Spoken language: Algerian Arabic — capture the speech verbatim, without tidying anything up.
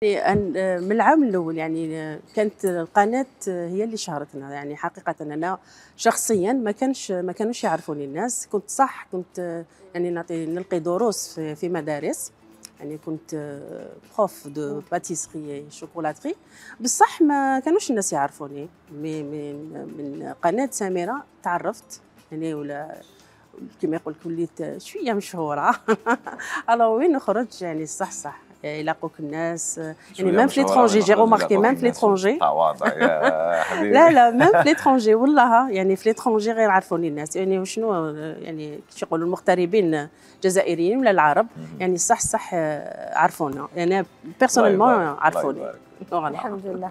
يعني من العام الأول يعني كانت القناة هي اللي شهرتنا، يعني حقيقة أنا شخصيا ما كانش ما كانوش يعرفوني الناس. كنت صح كنت يعني نعطي نلقي دروس في, في مدارس، يعني كنت بروف دو باتيسري شوكولاتري، بصح ما كانوش الناس يعرفوني. من من قناة سميرة تعرفت يعني، ولا كما يقول لك وليت شويه مشهوره. الو وين نخرج يعني صح صح يلاقوك الناس، يعني ميم في ليترونجي جي روماركي ميم في ليترونجي. تواضع يا حبيبي. لا لا ميم في ليترونجي والله، يعني في ليترونجي غير عرفوني الناس، يعني وشنو يعني كيش يقولوا المغتربين الجزائريين ولا العرب، يعني صح صح عرفونا، يعني بيرسونيلمون عرفوني. الحمد لله.